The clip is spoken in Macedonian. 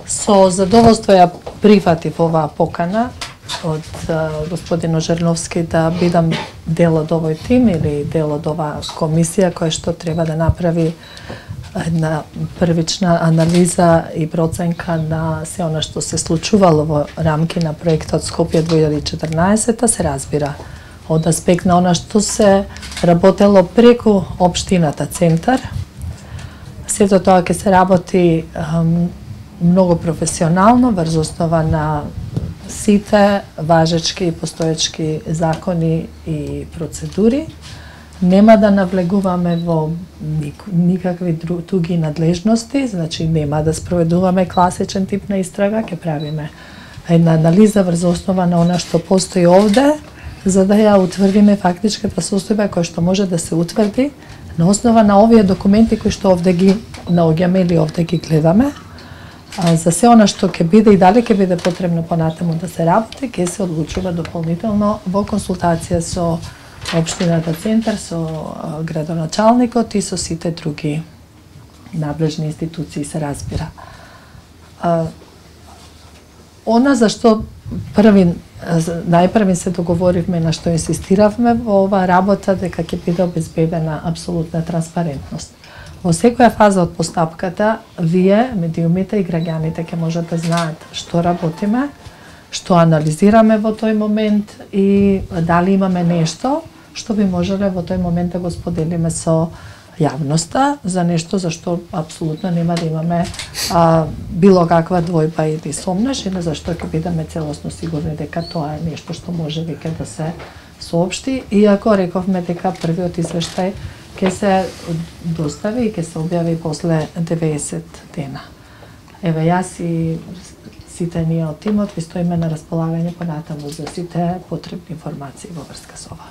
Со задоволство ја прифатив оваа покана од господин Ожерновски да бидам дел од овој тим или дел од оваа комисија која што треба да направи една првична анализа и проценка на се она што се случувало во рамки на проектот Скопје 2014, се разбира од аспект на она што се работело преку општината Центар. Сето тоа ќе се работи многу професионално врз основа на сите важечки и постоечки закони и процедури. Нема да навлегуваме во никакви други надлежности, значи нема да спроведуваме класичен тип на истрага, ќе правиме една анализа врз основа на она што постои овде, за да ја утврдиме фактичката состојба која што може да се утврди на основа на овие документи кои што овде ги наоѓаме или овде ги гледаме. За се она што ќе биде и дали ќе биде потребно понатаму да се работи, ќе се одлучува дополнително во консултација со општината Центар, со градоначалникот и со сите други надлежни институции, се разбира. Она за што најпрви се договоривме, на што инсистиравме во оваа работа, дека ќе биде обезбедена апсолутна транспарентност. Во секоја фаза од постапката, вие, медиумите и граѓаните ќе можат да знаат што работиме, што анализираме во тој момент и дали имаме нешто што би можеле во тој момент да го споделиме со јавноста за нешто за што апсолутно нема да имаме било каква двојба или сомнеш, или за што ќе бидеме целосно сигурни дека тоа е нешто што може веќе да се соопшти, иако рековме дека првиот извештај ќе се достави и ќе се објави после 90 дена. Еве, јас и сите ние од тимот ви стоиме на располагање понатаму за сите потребни информации во врска со ова.